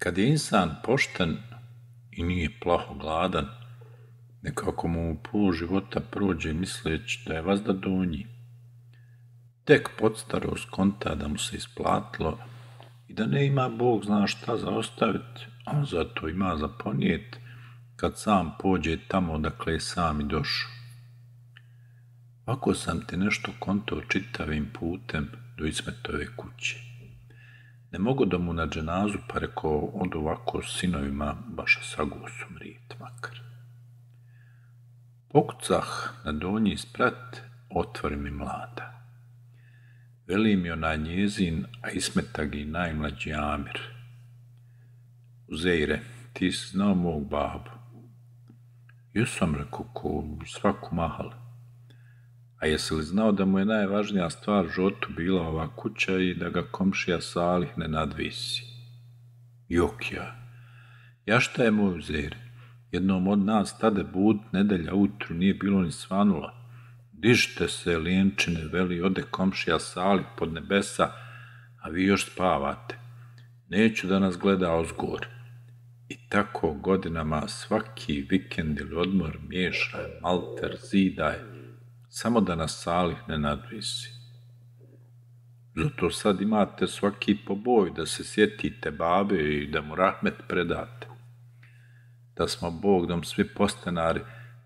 Kad je insan pošten i nije plaho gladan, nekako mu pol života prođe misleći da je vazda donji. Tek podstaro skonta da mu se isplatilo i da ne ima Bog zna šta za ostaviti, a on zato ima za ponijet kad sam pođe tamo odakle je sam i došao. Ako sam ti nešto konto čitavim putem do Ismetove kuće. Ne mogu da mu na dženazu pa rekao od ovako s sinovima baš sagosu mrijet makar. Pokucah na donji sprat, otvori mi mlada. Veli mi onaj njezin, a Ismetag i najmlađi Amir. Uzeire, ti si znao mog babu. Jesam, rekao, ko svaku mahal. A jesi li znao da mu je najvažnija stvar životu bila ova kuća i da ga komšija Salih ne nadvisi? Jok ja šta je moj Uzeire? Jednom od nas tade bud nedelja ujutru nije bilo ni svanula. Dižite se, lijenčine, veli, ode komšija Salih pod nebesa, a vi još spavate. Neću da nas gleda ozgor. I tako godinama svaki vikend ili odmor miješaj, malter, zidaj, samo da nas Salih ne nadvisi. Zato sad imate svaki poboj da se sjetite babe i da mu rahmet predate. Da smo Bogdom svi postanari,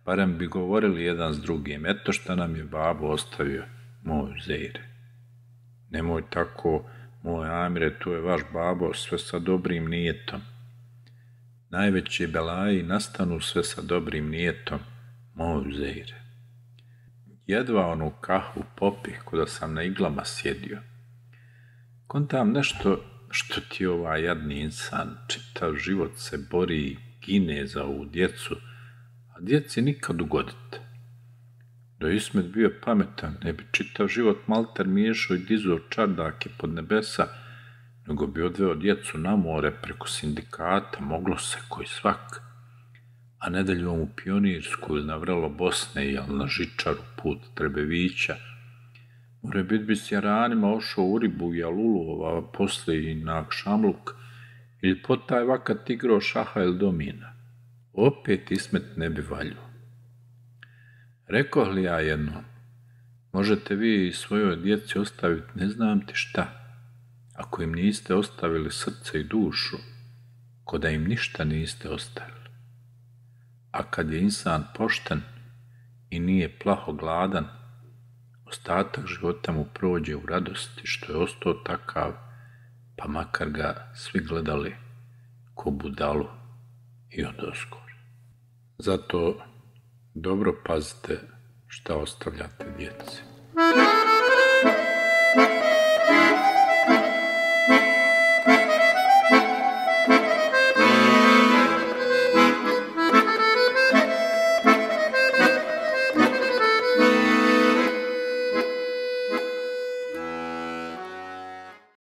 barem bi govorili jedan s drugim, eto šta nam je babo ostavio, moj Uzeire. Nemoj tako, moj Amire, tu je vaš babo, sve sa dobrim nijetom. Najveći belaji nastanu sve sa dobrim nijetom, moj Uzeire. Jedva onu kahvu popih kuda sam na iglama sjedio. Kontam nešto što ti ovaj jadni insan, čitav život se bori i gine za ovu djecu, a djeci nikad ugodite. Da je Ismet bio pametan, ne bi čitav život malter miješao i dizao čardake pod nebesa, nego bi odveo djecu na more preko sindikata, moglo se koji svak, a nedeljom u Pionirsku ili na vrelo Bosne ili na žičaru put Trebevića. More bit bi s jaranima ošao u Ribu i Alulova, posle i na Akšamluk, ili pod taj vakat igrao šaha ili domina. Opet Ismet ne bi valjao. Rekoh li ja jednom, možete vi svojoj djeci ostaviti ne znam ti šta, ako im niste ostavili srce i dušu, ko da im ništa niste ostavili. A kad je insan pošten i nije plaho gladan, ostatak života mu prođe u radosti što je ostao takav, pa makar ga svi gledali ko budalu i odozgor. Zato dobro pazite šta ostavljate djeci.